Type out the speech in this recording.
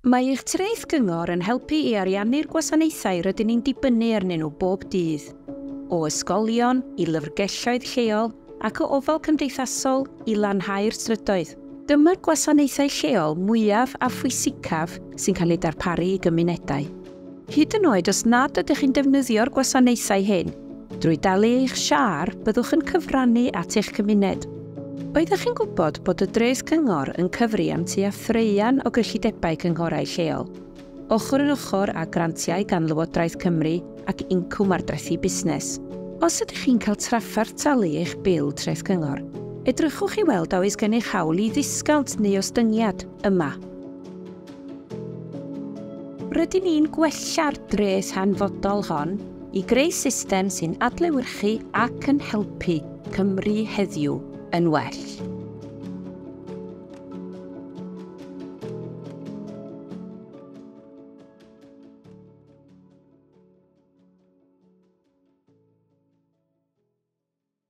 Mae eich treth gyngor yn helpu i ariannu'r gwasanaethau rydyn ni'n dibynnu arnyn nhw bob dydd, o ysgolion i lyfrgelloedd lleol ac o ofal cymdeithasol i lanhau'r strydoedd. Dyma'r gwasanaethau lleol mwyaf a phwysicaf sy'n cael eu darparu i gymunedau. Hyd yn oed os nad ydych chi'n defnyddio'r gwasanaethau hyn, drwy dalu eich siâr byddwch yn cyfrannu at eich cymuned. Oeddech chi'n gwybod bod y dreth cyngor yn cyfri am tua thraean o gyllidebau cynghorau lleol, ochr yn ochr â grantiau gan Lywodraeth Cymru ac incwm ardrethi busnes? Os ydych chi'n cael trafferth talu eich bil treth cyngor, edrychwch i weld a oes gennych hawl i ddisgownt neu ostyngiad yma. Rydyn ni'n gwella'r dreth hanfodol hon i greu system sy'n adlewyrchu ac yn helpu Cymru heddiw yn well.